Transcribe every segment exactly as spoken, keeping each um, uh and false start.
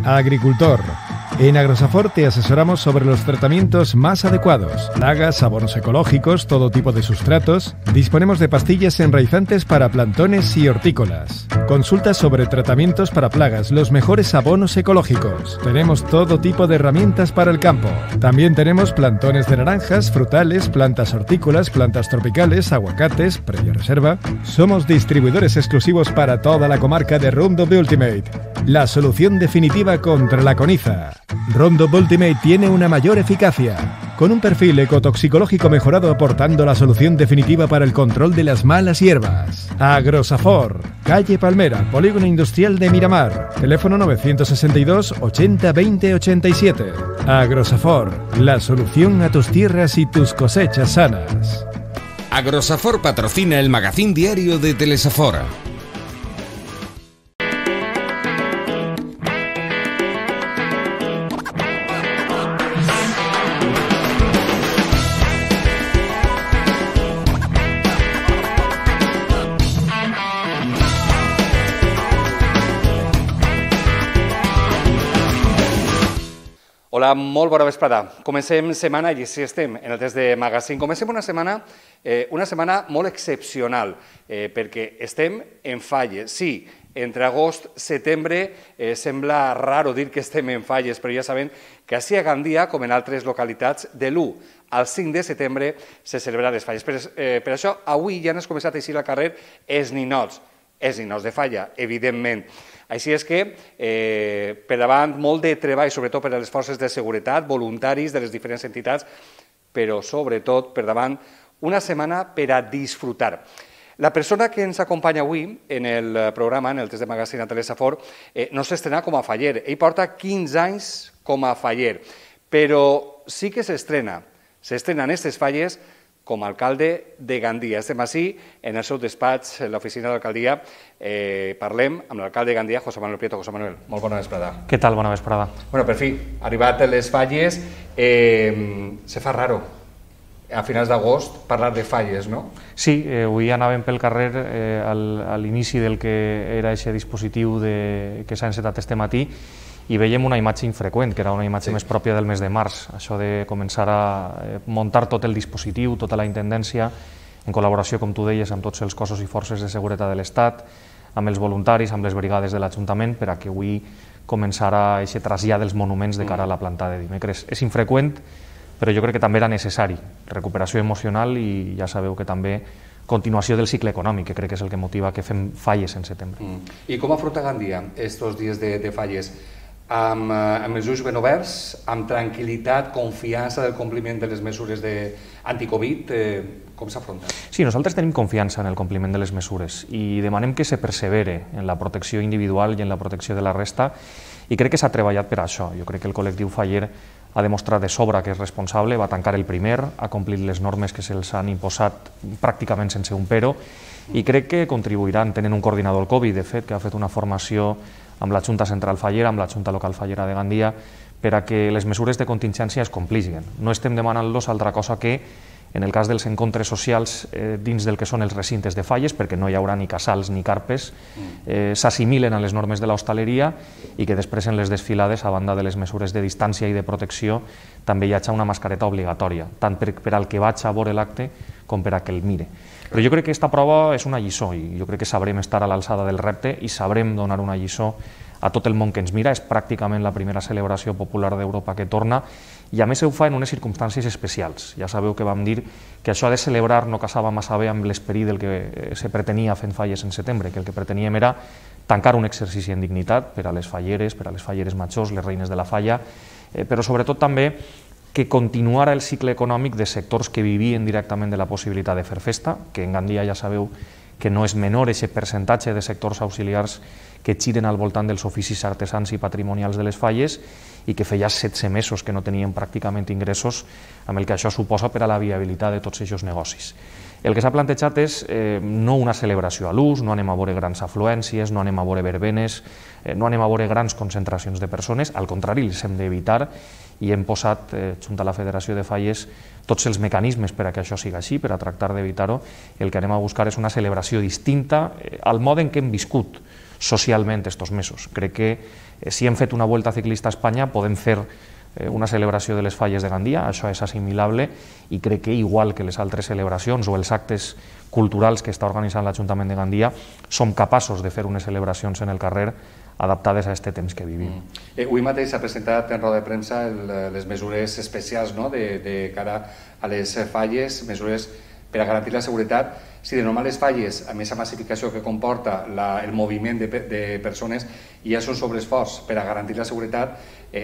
Agricultor. En Agrosafor te asesoramos sobre los tratamientos más adecuados, plagas, abonos ecológicos, todo tipo de sustratos. Disponemos de pastillas enraizantes para plantones y hortícolas. Consulta sobre tratamientos para plagas, los mejores abonos ecológicos. Tenemos todo tipo de herramientas para el campo. También tenemos plantones de naranjas, frutales, plantas hortícolas, plantas tropicales, aguacates, previa reserva. Somos distribuidores exclusivos para toda la comarca de Roundup Ultimate, la solución definitiva contra la coniza. Roundup Ultimate tiene una mayor eficacia, con un perfil ecotoxicológico mejorado aportando la solución definitiva para el control de las malas hierbas. Agrosafor, calle Palmera, Polígono Industrial de Miramar, teléfono novecientos sesenta y dos, ochenta, veinte, ochenta y siete. Agrosafor, la solución a tus tierras y tus cosechas sanas. Agrosafor patrocina el magazín diario de Telesafor. Hola, molt bona vesprada. Comencem setmana i així estem en el test de magazín. Comencem una setmana, eh, una setmana molt excepcional, eh, perquè estem en falles. Sí, entre agost i setembre eh, sembla raro dir que estem en falles, però ja sabem que així a Gandia, com en altres localitats, de l'u al cinc de setembre se celebren les falles. Per, eh, per això, avui ja han començat a eixir al carrer els ninots, els ninots de falla, evidentment. Així és que, eh, per davant, molt de treball, sobretot per a les forces de seguretat, voluntaris de les diferents entitats, però sobretot, per davant, una setmana per a disfrutar. La persona que ens acompanya avui en el programa, en el test de magazín a Telesafor, eh, no s'estrena com a faller. Ell porta quinze anys com a faller, però sí que s'estrena. S'estrena en aquestes falles com a alcalde de Gandia. Estem així, en el seu despatx, en l'oficina de l'alcaldia. Eh, parlem amb l'alcalde de Gandia, José Manuel Prieto. José Manuel, molt bona vesprada. Què tal? Bona vesprada. Bueno, per fi, arribat a les falles, eh, se fa raro a finals d'agost parlar de falles, no? Sí, eh, avui anàvem pel carrer eh, al, a l'inici del que era aquest dispositiu de, que s'ha encetat este matí, i veiem una imatge infreqüent, que era una imatge sí. més pròpia del mes de març, això de començar a muntar tot el dispositiu, tota la intendència, en col·laboració, com tu deies, amb tots els cossos i forces de seguretat de l'Estat, amb els voluntaris, amb les brigades de l'Ajuntament, per a que avui començarà aquest trasllat dels monuments de cara a la plantada de dimecres. És infreqüent, però jo crec que també era necessari. Recuperació emocional i ja sabeu que també continuació del cicle econòmic, que crec que és el que motiva que fem falles en setembre. Mm. I com afronta Gandia estos dies de, de falles? Amb, amb els ulls ben oberts, amb tranquil·litat, confiança del compliment de les mesures de anti-Covid, eh, com s'afronta? Sí, nosaltres tenim confiança en el compliment de les mesures i demanem que se persevere en la protecció individual i en la protecció de la resta, i crec que s'ha treballat per això. Jo crec que el col·lectiu faller ha demostrat de sobra que és responsable, va tancar el primer, ha complit les normes que se'ls han imposat pràcticament sense un però, i crec que contribuiran, tenen un coordinador Covid, de fet, que ha fet una formació amb la Junta Central Fallera, amb la Junta Local Fallera de Gandia, per a que les mesures de contingència es complixen. No estem demanant-los altra cosa que, en el cas dels encontres socials eh, dins del que són els recintes de falles, perquè no hi haurà ni casals ni carpes, eh, s'assimilen a les normes de l'hostaleria i que després en les desfilades, a banda de les mesures de distància i de protecció, també hi hagi una mascareta obligatòria, tant per, per al que vaig a veure l'acte com per a que el mire. Però jo crec que aquesta prova és una lliçó i jo crec que sabrem estar a l'alçada del repte i sabrem donar una lliçó a tot el món que ens mira. És pràcticament la primera celebració popular d'Europa que torna i a més ho fa en unes circumstàncies especials. Ja sabeu que vam dir que això de celebrar no casava massa bé amb l'esperit del que se pretenia fent falles en setembre, que el que preteníem era tancar un exercici en dignitat per a les falleres, per a les falleres majors, les reines de la falla, eh, però sobretot també que continuara el cicle econòmic de sectors que vivien directament de la possibilitat de fer festa, que en Gandia ja sabeu que no és menor aquest percentatge de sectors auxiliars que giren al voltant dels oficis artesans i patrimonials de les falles i que feia setze mesos que no tenien pràcticament ingressos, amb el que això suposa per a la viabilitat de tots aquests negocis. El que s'ha plantejat és eh, no una celebració a l'ús, no anem a veure grans afluències, no anem a veure verbenes, eh, no anem a veure grans concentracions de persones, al contrari, les hem d'evitar i hem posat, eh, junt a la Federació de Falles, tots els mecanismes per a que això sigui així, per a tractar d'evitar-ho. El que anem a buscar és una celebració distinta eh, al mode en què hem viscut socialment estos mesos. Crec que si hem fet una Vuelta Ciclista a Espanya podem fer una celebració de les falles de Gandia, això és assimilable, i crec que igual que les altres celebracions o els actes culturals que està organitzant l'Ajuntament de Gandia, som capaços de fer unes celebracions en el carrer adaptades a aquest temps que vivim. Avui mateix s'ha presentat en roda de premsa les mesures especials de cara a les falles, mesures per a garantir la seguretat. Si de normal les falles, a més la massificació que comporta el moviment de persones, ja són sobreesforç per a garantir la seguretat,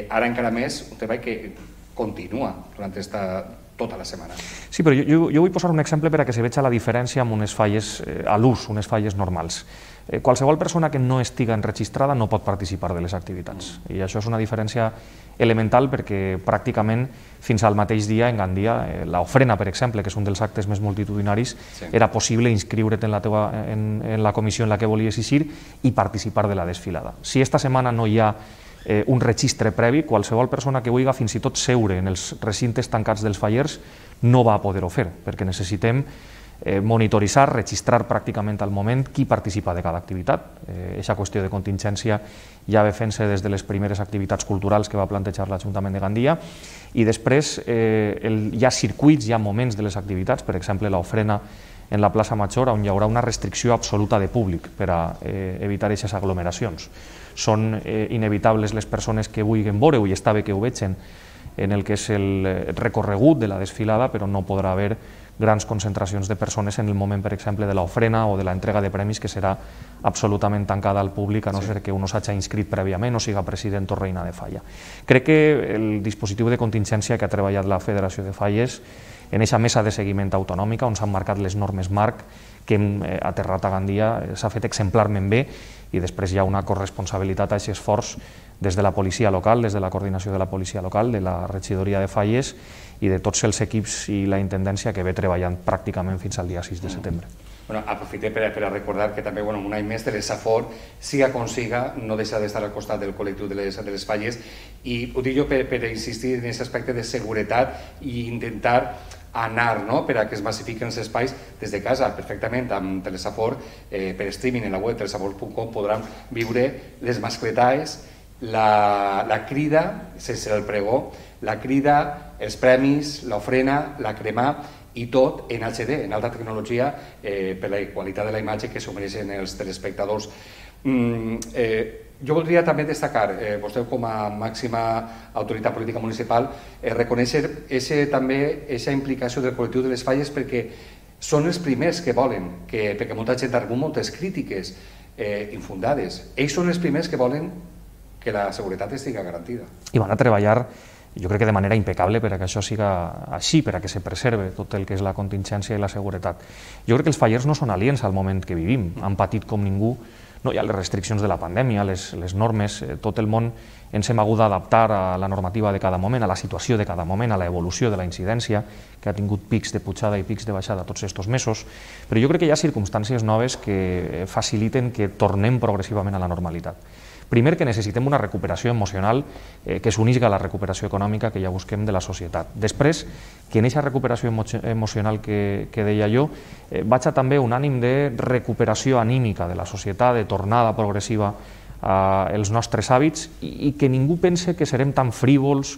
ara encara més un treball que continua durant tota la setmana. Sí, però jo vull posar un exemple per a que se vegi la diferència amb unes falles a l'ús, unes falles normals. Qualsevol persona que no estiga enregistrada no pot participar de les activitats. I això és una diferència elemental perquè pràcticament fins al mateix dia en Gandia, l'ofrena, per exemple, que és un dels actes més multitudinaris, era possible inscriure't en la comissió en la que volies eixir i participar de la desfilada. Si esta setmana no hi ha un registre previ, qualsevol persona que vulgui fins i tot seure en els recintes tancats dels fallers no va poder-ho fer, perquè necessitem monitoritzar, registrar pràcticament al moment qui participa de cada activitat. Aquesta qüestió de contingència ja va fent-se des de les primeres activitats culturals que va plantejar l'Ajuntament de Gandia, i després hi ha circuits, hi ha moments de les activitats, per exemple l'ofrena en la plaça Major, on hi haurà una restricció absoluta de públic per a evitar aquestes aglomeracions. Són inevitables les persones que vulguin veure-ho, i està bé que ho vegin en el que és el recorregut de la desfilada, però no podrà haver grans concentracions de persones en el moment, per exemple, de l'ofrena o de l'entrega de premis, que serà absolutament tancada al públic, a no ser que un s'hagi inscrit prèviament o siga president o reina de falla. Crec que el dispositiu de contingència que ha treballat la Federació de Falles en aquesta mesa de seguiment autonòmica, on s'han marcat les normes marc que hem aterrat a Gandia, s'ha fet exemplarment bé, i després hi ha una corresponsabilitat a aquest esforç des de la policia local, des de la coordinació de la policia local, de la regidoria de Falles i de tots els equips i la intendència que ve treballant pràcticament fins al dia sis de setembre. Aprofite per a recordar que també un any més de l'Safor, siga com siga, no deixa d'estar al costat del col·lectiu de les falles, i ho dic jo per insistir en aquest aspecte de seguretat i intentar anar per a que es massifiquen els espais des de casa. Perfectament, amb Telesafor, per streaming en la web telesafor punt com, podran viure les mascletaes, la crida, sense el pregó, la crida, els premis, l'ofrena, la cremà, i tot en H D, en alta tecnologia, per la qualitat de la imatge que s'ho mereixen els telespectadors. Jo voldria també destacar, vostè com a màxima autoritat política municipal, reconèixer també aquesta implicació del col·lectiu de les falles, perquè són els primers que volen, perquè molta gent ha rebut moltes crítiques infundades. Ells són els primers que volen que la seguretat estigui garantida. I van a treballar, jo crec que de manera impecable, per a que això siga així, per a que se preserve tot el que és la contingència i la seguretat. Jo crec que els fallers no són aliens al moment que vivim, han patit com ningú. No hi ha les restriccions de la pandèmia, les normes, tot el món ens hem hagut d'adaptar a la normativa de cada moment, a la situació de cada moment, a l'evolució de la incidència, que ha tingut pics de pujada i pics de baixada tots aquests mesos, però jo crec que hi ha circumstàncies noves que faciliten que tornem progressivament a la normalitat. Primer, que necessitem una recuperació emocional que s'unisca a la recuperació econòmica que ja busquem de la societat. Després, que en aquesta recuperació emocional que deia jo, vaig a també un ànim de recuperació anímica de la societat, de tornada progressiva als nostres hàbits, i que ningú pense que serem tan frívols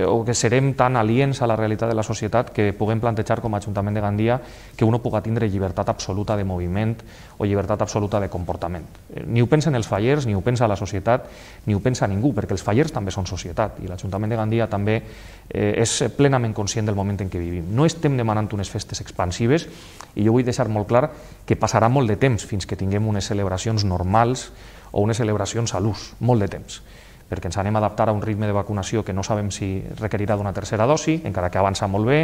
o que serem tan aliens a la realitat de la societat que puguem plantejar com a Ajuntament de Gandia que uno pugui tindre llibertat absoluta de moviment o llibertat absoluta de comportament. Ni ho pensen els fallers, ni ho pensa la societat, ni ho pensa ningú, perquè els fallers també són societat i l'Ajuntament de Gandia també és plenament conscient del moment en què vivim. No estem demanant unes festes expansives, i jo vull deixar molt clar que passarà molt de temps fins que tinguem unes celebracions normals o unes celebracions a l'ús, molt de temps, perquè ens anem a adaptar a un ritme de vacunació que no sabem si requerirà d'una tercera dosi, encara que avança molt bé,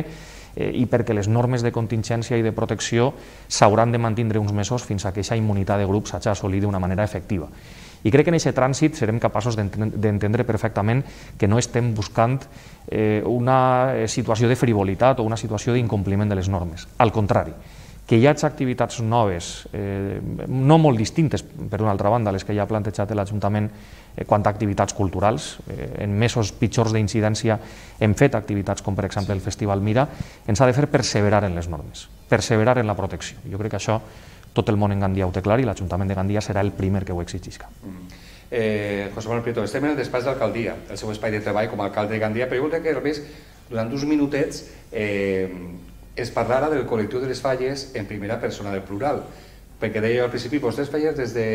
i perquè les normes de contingència i de protecció s'hauran de mantindre uns mesos fins a que aquesta immunitat de grup s'hagi assolit d'una manera efectiva. I crec que en aquest trànsit serem capaços d'entendre perfectament que no estem buscant una situació de frivolitat o una situació d'incompliment de les normes. Al contrari, que hi hagi activitats noves, no molt distintes, per una altra banda, les que ja ha plantejat l'Ajuntament quant a activitats culturals. En mesos pitjors d'incidència hem fet activitats com, per exemple, el Festival Mira. Ens ha de fer perseverar en les normes, perseverar en la protecció. Jo crec que això tot el món en Gandia ho té clar i l'Ajuntament de Gandia serà el primer que ho exigisca. Eh, José Manuel Prieto, estem en el despatx d'alcaldia, el seu espai de treball com a alcalde de Gandia, però jo voldria que només durant uns minutets eh, es parlara del col·lectiu de les falles en primera persona del plural, perquè deia al principi, vostès falles des de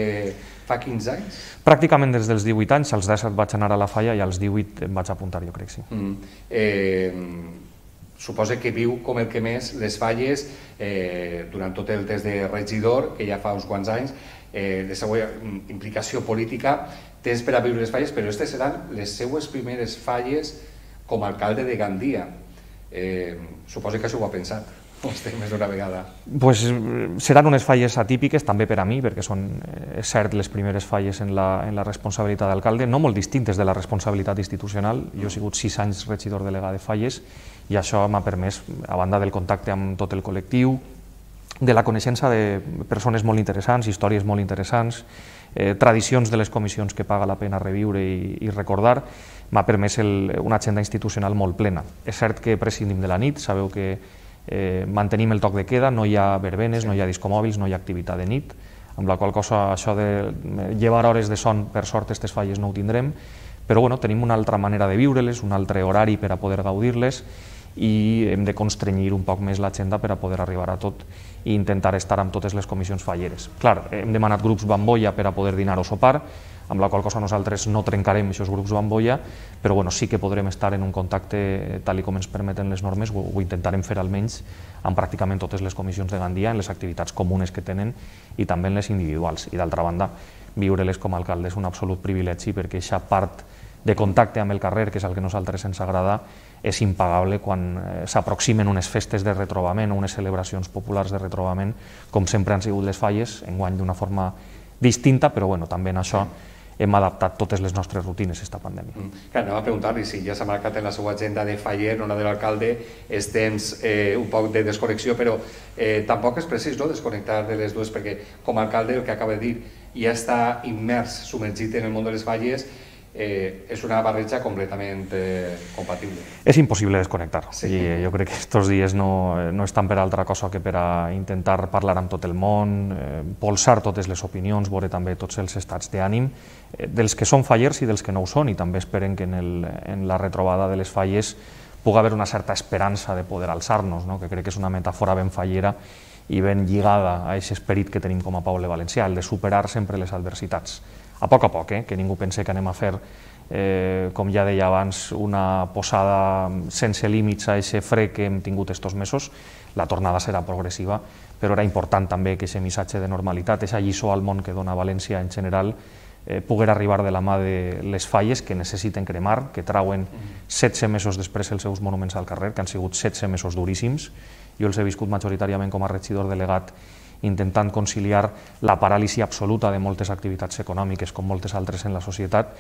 fa quinze anys? Pràcticament des dels divuit anys, als disset vaig anar a la falla i als divuit em vaig apuntar, jo crec, sí. Mm. Eh, suposa que viu com el que més les falles eh, durant tot el temps de regidor, que ja fa uns quants anys, eh, de seva implicació política, tens per a viure les falles, però aquestes seran les seues primeres falles com a alcalde de Gandia. Eh, suposa que això ho ha pensat. Estem més d'una vegada. Pues, seran unes falles atípiques també per a mi, perquè són, és cert, les primeres falles en la, en la responsabilitat d'alcalde, no molt distintes de la responsabilitat institucional. Jo he sigut sis anys regidor delegat de falles i això m'ha permès, a banda del contacte amb tot el col·lectiu, de la coneixença de persones molt interessants, històries molt interessants, eh, tradicions de les comissions que paga la pena reviure i, i recordar, m'ha permès el, una agenda institucional molt plena. És cert que prescindim de la nit, sabeu que Eh, mantenim el toc de queda, no hi ha verbenes, no hi ha discomòbils, no hi ha activitat de nit, amb la qual cosa això de llevar hores de son, per sort, aquestes falles no ho tindrem, però bueno, tenim una altra manera de viure-les, un altre horari per a poder gaudir-les i hem de constrenyir un poc més l'agenda per a poder arribar a tot i intentar estar amb totes les comissions falleres. Clar, hem demanat grups bambolla per a poder dinar o sopar, amb la qual cosa nosaltres no trencarem aquests grups bambolla, però bueno, sí que podrem estar en un contacte tal com ens permeten les normes, ho, ho intentarem fer almenys amb pràcticament totes les comissions de Gandia, en les activitats comunes que tenen i també en les individuals. I d'altra banda, viure-les com a alcalde és un absolut privilegi perquè aquesta part de contacte amb el carrer, que és el que a nosaltres ens agrada, és impagable quan eh, s'aproximen unes festes de retrobament o unes celebracions populars de retrobament, com sempre han sigut les falles, enguany d'una forma distinta, però bueno, també en això hem adaptat totes les nostres rutines a aquesta pandèmia. Mm. Clar, anem a preguntar-li si ja s'ha marcat en la seva agenda de faller, no la de l'alcalde, els temps eh, un poc de desconnexió, però eh, tampoc és precís no, desconnectar de les dues, perquè com a alcalde, el que acaba de dir, ja està immers, submergit en el món de les falles, eh, és una barreja completament eh, compatible. És impossible desconnectar. Sí. I jo crec que aquests dies no, no estan per altra cosa que per a intentar parlar amb tot el món, eh, polsar totes les opinions, veure també tots els estats d'ànim, eh, dels que són fallers i dels que no ho són, i també esperen que en, el, en la retrobada de les falles pugui haver una certa esperança de poder alçar-nos, no? Que crec que és una metàfora ben fallera i ben lligada a aquest esperit que tenim com a poble valencià, el de superar sempre les adversitats. A poc a poc, eh? Que ningú pense que anem a fer, eh, com ja deia abans, una posada sense límits a aquest fre que hem tingut estos mesos. La tornada serà progressiva, però era important també que aquest missatge de normalitat, aquesta lliçó al món que dona València en general, eh, poguer arribar de la mà de les falles que necessiten cremar, que trauen setze mesos després els seus monuments al carrer, que han sigut setze mesos duríssims. Jo els he viscut majoritàriament com a regidor delegat, intentant conciliar la paràlisi absoluta de moltes activitats econòmiques com moltes altres en la societat,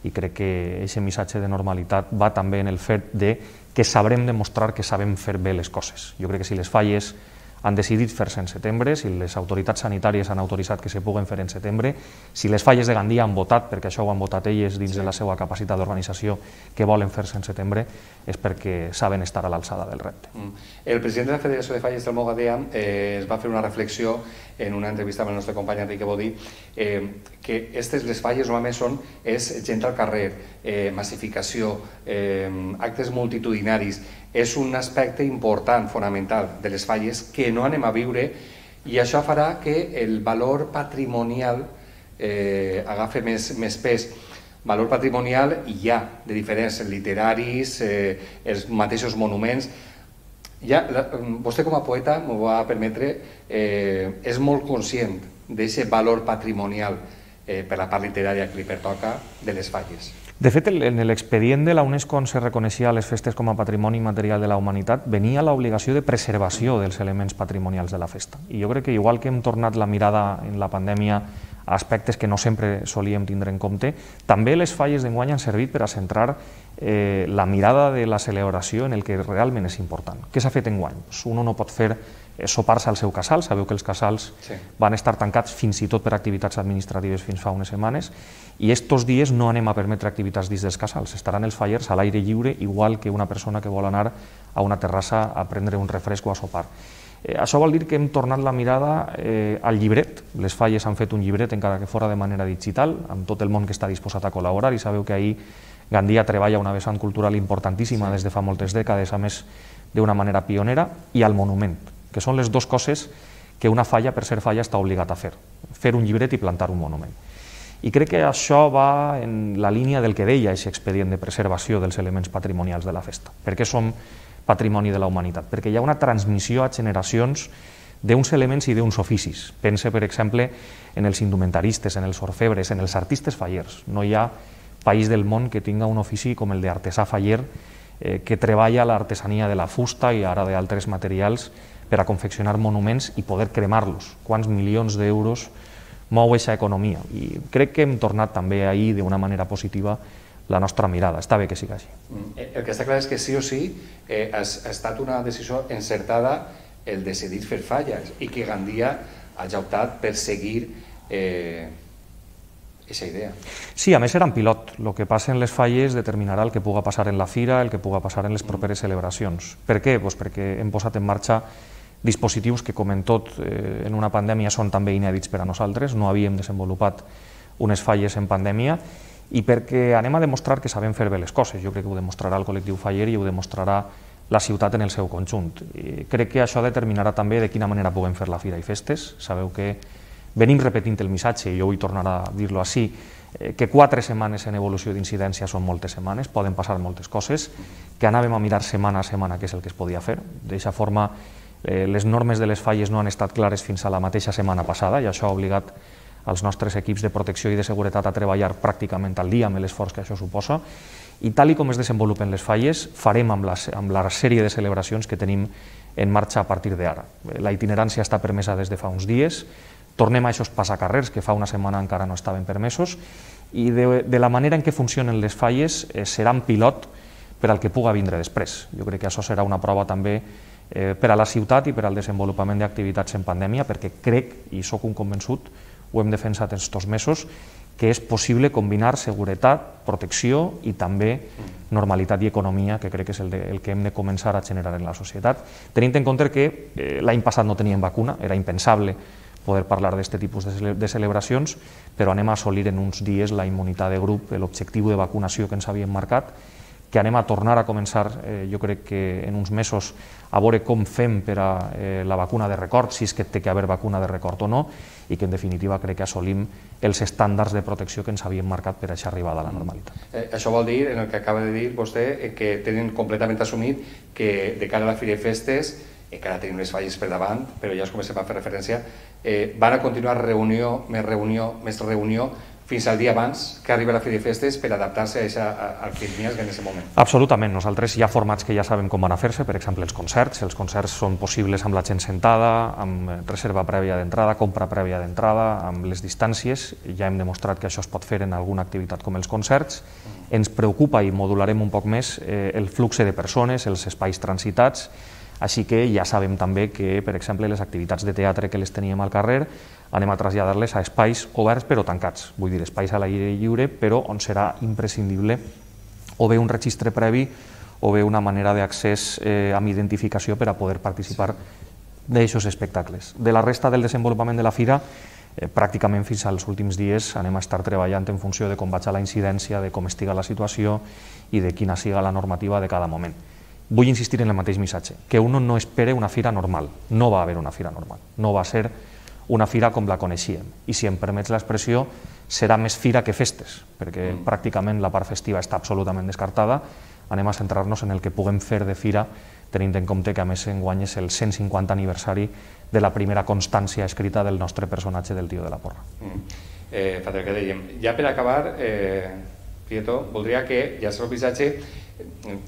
i crec que aquest missatge de normalitat va també en el fet de que sabrem demostrar que sabem fer bé les coses. Jo crec que si les falles han decidit fer-se en setembre, si les autoritats sanitàries han autoritzat que se puguen fer en setembre, si les falles de Gandia han votat, perquè això ho han votat elles dins de la seva capacitat d'organització, que volen fer-se en setembre, és perquè saben estar a l'alçada del repte. El president de la Federació de Falles del Mogadea eh, es va fer una reflexió en una entrevista amb el nostre company Enrique Bodí, eh, que aquestes les falles normalment són és gent al carrer, eh, massificació, eh, actes multitudinaris. És un aspecte important, fonamental, de les falles que no anem a viure, i això farà que el valor patrimonial eh, agafi més, més pes. Valor patrimonial hi ha, de diferents literaris, eh, els mateixos monuments. Ja, la, vostè com a poeta, m'ho va permetre, eh, és molt conscient d'aquest valor patrimonial eh, per la part literària que li pertoca de les falles. De fet, en l'expedient de la UNESCO on se reconeixia les festes com a patrimoni material de la humanitat venia l'obligació de preservació dels elements patrimonials de la festa. I jo crec que igual que hem tornat la mirada en la pandèmia a aspectes que no sempre solíem tindre en compte, també les falles d'enguany han servit per a centrar eh, la mirada de la celebració en el que realment és important. Què s'ha fet enguany? Pues uno no pot fer eh, sopar-se al seu casal, sabeu que els casals sí. van estar tancats fins i tot per activitats administratives fins fa unes setmanes, i estos dies no anem a permetre activitats dins dels casals, estaran els fallers a l'aire lliure, igual que una persona que vol anar a una terrassa a prendre un refresc o a sopar. Eh, això vol dir que hem tornat la mirada eh, al llibret. Les falles han fet un llibret, encara que fora de manera digital, amb tot el món que està disposat a col·laborar, i sabeu que ahir Gandia treballa una vessant cultural importantíssima sí. des de fa moltes dècades, a més d'una manera pionera, i al monument, que són les dues coses que una falla, per ser falla, està obligat a fer. Fer un llibret i plantar un monument. I crec que això va en la línia del que deia aquest expedient de preservació dels elements patrimonials de la festa. Per què som patrimoni de la humanitat? Perquè hi ha una transmissió a generacions d'uns elements i d'uns oficis. Pense, per exemple, en els indumentaristes, en els orfebres, en els artistes fallers. No hi ha país del món que tinga un ofici com el d'artesà faller eh, que treballa l'artesania de la fusta i ara d'altres materials per a confeccionar monuments i poder cremar-los. Quants milions d'euros mou aquesta economia? I crec que hem tornat també ahir d'una manera positiva la nostra mirada. Està bé que sigui així. El que està clar és que sí o sí eh, ha, ha estat una decisió encertada el decidir fer falles i que Gandia hagi optat per seguir eh, aquesta idea. Sí, a més era en pilot. El que passa en les falles determinarà el que puga passar en la fira, el que puga passar en les properes celebracions. Per què? Pues perquè hem posat en marxa dispositius que, com en tot, eh, en una pandèmia són també inèdits per a nosaltres. No havíem desenvolupat unes falles en pandèmia i perquè anem a demostrar que sabem fer bé les coses. Jo crec que ho demostrarà el col·lectiu faller i ho demostrarà la ciutat en el seu conjunt. I crec que això determinarà també de quina manera puguem fer la fira i festes. Sabeu que venim repetint el missatge, i jo vull tornar a dir-lo així, eh, que quatre setmanes en evolució d'incidència són moltes setmanes, poden passar moltes coses, que anàvem a mirar setmana a setmana què és el que es podia fer. D'aquesta forma, eh, les normes de les falles no han estat clares fins a la mateixa setmana passada, i això ha obligat els nostres equips de protecció i de seguretat a treballar pràcticament al dia amb l'esforç que això suposa, i tal i com es desenvolupen les falles, farem amb la, amb la sèrie de celebracions que tenim en marxa a partir d'ara. La itinerància està permesa des de fa uns dies, tornem a aquests passacarrers que fa una setmana encara no estaven permesos, i de, de la manera en què funcionen les falles eh, serà un pilot per al que puga vindre després. Jo crec que això serà una prova també eh, per a la ciutat i per al desenvolupament d'activitats en pandèmia, perquè crec, i sóc un convençut, ho hem defensat aquests mesos, que és possible combinar seguretat, protecció i també normalitat i economia, que crec que és el, de, el que hem de començar a generar en la societat, tenint en compte que eh, l'any passat no teníem vacuna, era impensable poder parlar d'aquest tipus de, cele de celebracions, però anem a assolir en uns dies la immunitat de grup, l'objectiu de vacunació que ens havíem marcat, que anem a tornar a començar, eh, jo crec que en uns mesos, a veure com fem per a eh, la vacuna de record, si és que té que haver vacuna de record o no, i que en definitiva crec que assolim els estàndards de protecció que ens havíem marcat per a aquesta arribada a la normalitat. Eh, això vol dir, en el que acaba de dir vostè, eh, que tenen completament assumit que de cara a la Fira i Festes, encara tenim les falles per davant, però ja us comencem a fer referència, eh, van a continuar reunió, més reunió, més reunió, fins al dia abans que arriba la Fira i Festes per adaptar-se a això, al que hi en aquest moment. Absolutament. Nosaltres hi ha formats que ja sabem com van a fer-se, per exemple els concerts. Els concerts són possibles amb la gent sentada, amb reserva prèvia d'entrada, compra prèvia d'entrada, amb les distàncies. Ja hem demostrat que això es pot fer en alguna activitat com els concerts. Ens preocupa, i modularem un poc més, eh, el flux de persones, els espais transitats, així que ja sabem també que, per exemple, les activitats de teatre que les teníem al carrer anem a traslladar-les a espais oberts però tancats, vull dir, espais a l'aire lliure, però on serà imprescindible o bé un registre previ o bé una manera d'accés eh, amb identificació per a poder participar d'aquests espectacles. De la resta del desenvolupament de la fira, eh, pràcticament fins als últims dies anem a estar treballant en funció de com vaig la incidència, de com estiga la situació i de quina siga la normativa de cada moment. Vull insistir en el mateix missatge, que uno no espere una fira normal, no va haver una fira normal, no va ser una fira com la coneixíem, i si em permets l'expressió, serà més fira que festes, perquè mm. pràcticament la part festiva està absolutament descartada, anem a centrar-nos en el que puguem fer de fira, tenint en compte que a més enguany és el cent cinquanta aniversari de la primera constància escrita del nostre personatge del Tio de la Porra. Mm. Eh, Father, que dèiem, ja per acabar, eh, Prieto, voldria que ja serà el missatge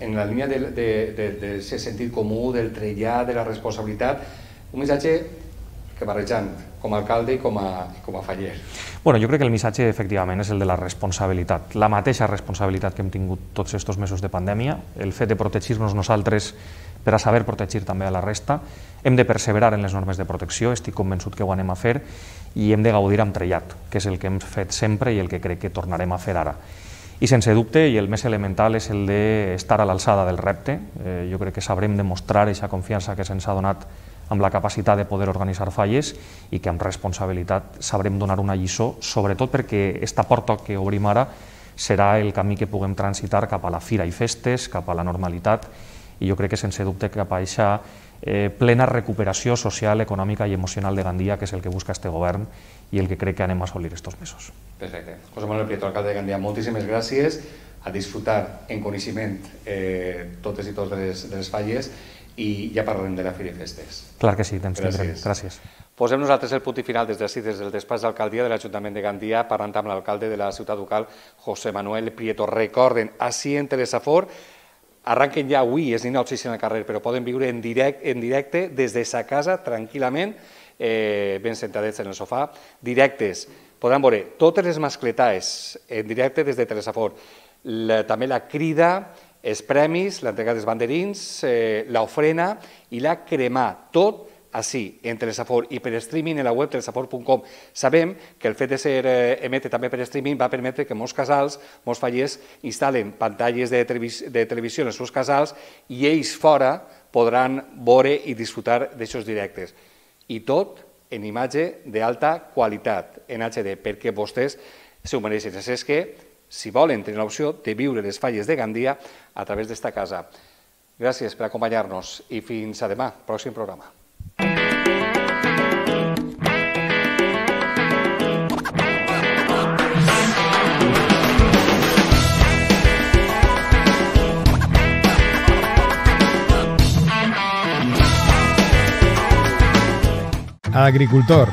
en la línia del de, de, de, de sentit comú, del trellat, de la responsabilitat, un missatge que barrejant com a alcalde i com a, i com a faller. Bueno, jo crec que el missatge efectivament és el de la responsabilitat, la mateixa responsabilitat que hem tingut tots aquests mesos de pandèmia, el fet de protegir-nos nosaltres per a saber protegir també a la resta, hem de perseverar en les normes de protecció, estic convençut que ho anem a fer, i hem de gaudir amb trellat, que és el que hem fet sempre i el que crec que tornarem a fer ara. I sense dubte, i el més elemental, és el d'estar a l'alçada del repte. Eh, jo crec que sabrem demostrar aquesta confiança que se'ns ha donat amb la capacitat de poder organitzar falles i que amb responsabilitat sabrem donar una lliçó, sobretot perquè aquesta porta que obrim ara serà el camí que puguem transitar cap a la fira i festes, cap a la normalitat, i jo crec que sense dubte cap a aquesta eh, plena recuperació social, econòmica i emocional de Gandia, que és el que busca este govern i el que crec que anem a assolir estos mesos. Perfecte. José Manuel Prieto, alcalde de Gandia, moltíssimes gràcies, a disfrutar en coneixement eh, totes i tots de les, de les falles, i ja parlarem de la fira i festes. Clar que sí, temps tindrem. Gràcies. Posem nosaltres el punt i final des d'ací, des del despatx d'alcaldia de l'Ajuntament de Gandia, parlant amb l'alcalde de la ciutat local, José Manuel Prieto. Recorden, ací en Telesafor, arranquen ja avui, és inopsis en el carrer, però poden viure en directe, en directe des de sa casa, tranquil·lament, eh, ben sentadets en el sofà, directes. Podran veure totes les mascletaes en directe des de Telesafor. La, també la crida, els premis, l'entrega dels banderins, eh, l'ofrena i la cremà, tot així, en Telesafor i per streaming en la web telesafor punt com. Sabem que el fet de ser eh, emete també per streaming va permetre que molts casals, molts fallers, instal·len pantalles de, televis de televisió en els seus casals i ells fora podran veure i disfrutar d'aixòs directes. I tot en imatge d'alta qualitat, en H D, perquè vostès s'ho mereixen. És que, si volen tenir l'opció de viure les falles de Gandia a través d'esta casa. Gràcies per acompanyar-nos i fins a demà, pròxim programa. Agricultor.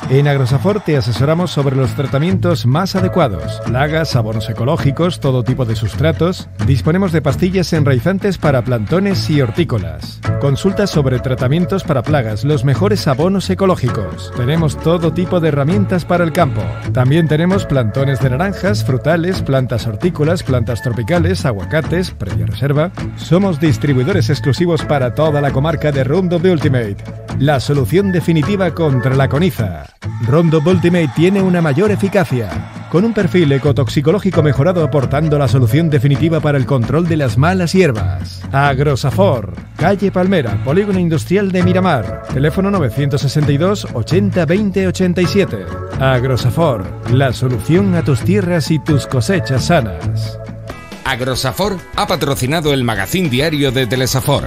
En Agrosafor te asesoramos sobre los tratamientos más adecuados, plagas, abonos ecológicos, todo tipo de sustratos. Disponemos de pastillas enraizantes para plantones y hortícolas. Consulta sobre tratamientos para plagas, los mejores abonos ecológicos. Tenemos todo tipo de herramientas para el campo. También tenemos plantones de naranjas, frutales, plantas hortícolas, plantas tropicales, aguacates, previa reserva. Somos distribuidores exclusivos para toda la comarca de Roundup Ultimate, la solución definitiva contra la coniza. Roundup Ultimate tiene una mayor eficacia, con un perfil ecotoxicológico mejorado aportando la solución definitiva para el control de las malas hierbas. Agrosafor, calle Palmera, Polígono Industrial de Miramar, teléfono novecientos sesenta y dos ochenta veinte ochenta y siete. Agrosafor, la solución a tus tierras y tus cosechas sanas. Agrosafor ha patrocinado el magazín diario de Telesafor.